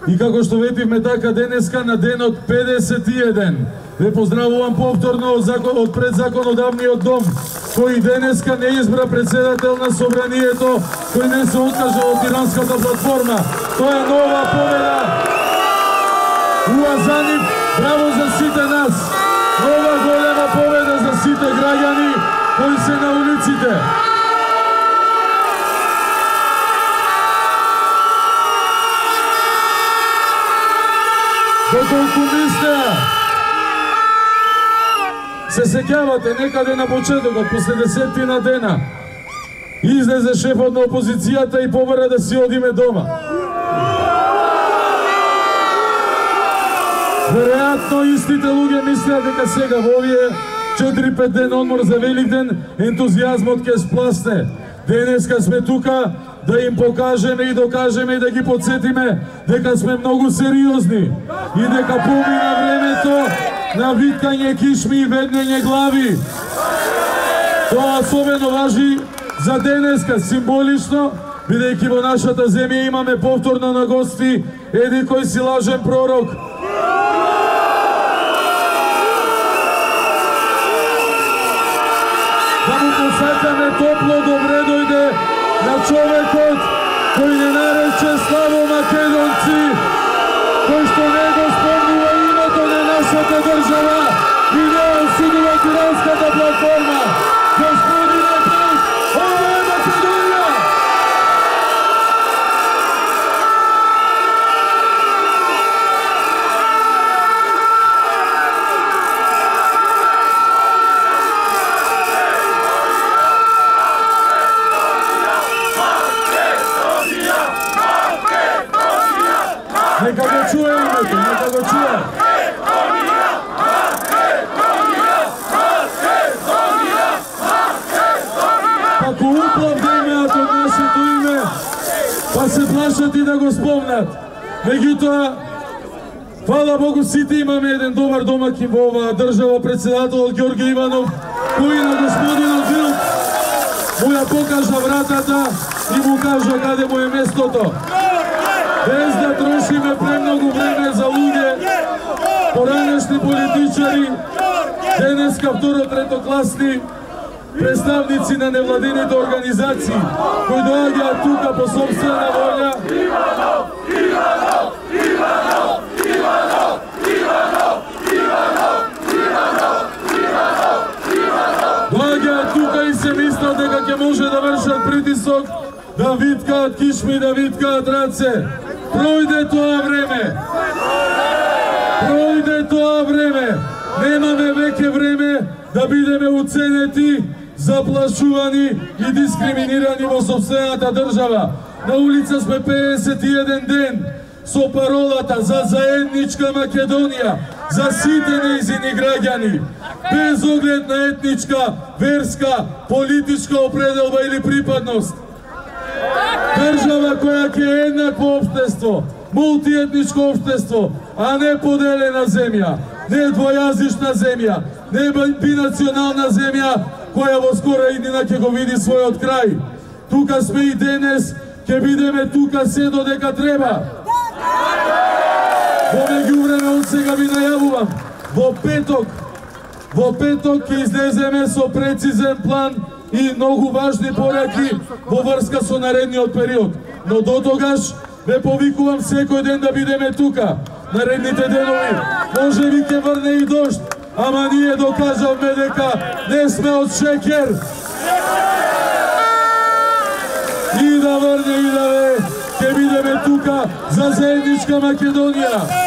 И како што ветивме така денеска на денот 51, ве поздравувам повторно од предзаконодавниот дом, кој денеска не избра председател на собранието, кој не се откажа од тиранската платформа. Тоа е нова победа. Уа за нив, браво за сите нас. Нова голема победа за сите граѓани кои се на улиците. Доколку мислеа, се сеќавате некаде на почетокот, после 10 дена, излезе шефот на опозицијата и побара да си одиме дома. Веројатно истите луѓе мислеа дека сега во овие 4-5 ден одмор за Великден ентузијазмот ќе спласне. Денеска сме тука да им покажеме и докажеме и да ги подсетиме дека сме многу сериозни и дека помина времето на виткање кишми и веднење глави. Тоа особено важи за денеска, символично, бидејќи во нашата земја имаме повторно на гости еди кој си лажен пророк. Да му посакаме топло добре дојде на човекот кој не нарече славо македонци, кој што не го спомнува името на нашата држава и не осудува тиранската платформа. Господине Бог, ова е Македонија! Нека го чуе името, нека го чуе. Ако уплав да имеат од нашето име, па се плашат и да го спомнат. Меѓутоа, фала Богу, сите имаме еден добар домакин во оваа држава, председателот Ѓорѓе Иванов, кој на господинот Вилк му ја покажа вратата и му кажа каде му е местото. Без да трошиме премногу време за луѓе, поранешни политичари, денеска второ-третокласни представници на невладените организации, кои доаѓаат тука по собствена волја. Доаѓаат тука и се мислат дека ќе може да вршат притисок, да виткаат кишми, да виткаат раце. Пројде тоа време. Пројде тоа време. Немаме веќе време да бидеме уценети, заплашувани и дискриминирани во сопствената држава. На улица сме 51 ден со паролата за заедничка Македонија, за сите нејзини граѓани, без оглед на етничка, верска, политичка определба или припадност. Држава која ќе е еднакво општество, мултиетничко општество, а не поделена земја, не двојазична земја, не бинационална земја која во скора иднина ќе го види својот крај. Тука сме и денес, ќе бидеме тука се додека треба. Во меѓувреме од сега ви најавувам, во петок ќе излеземе со прецизен план и многу важни пораки во врска со наредниот период. Но до тогаш ве повикувам секој ден да бидеме тука. Наредните денови може би ќе врне и дожд, ама ние докажавме дека не сме од шекер. И да врне и да ве, ќе бидеме тука за заедничка Македонија.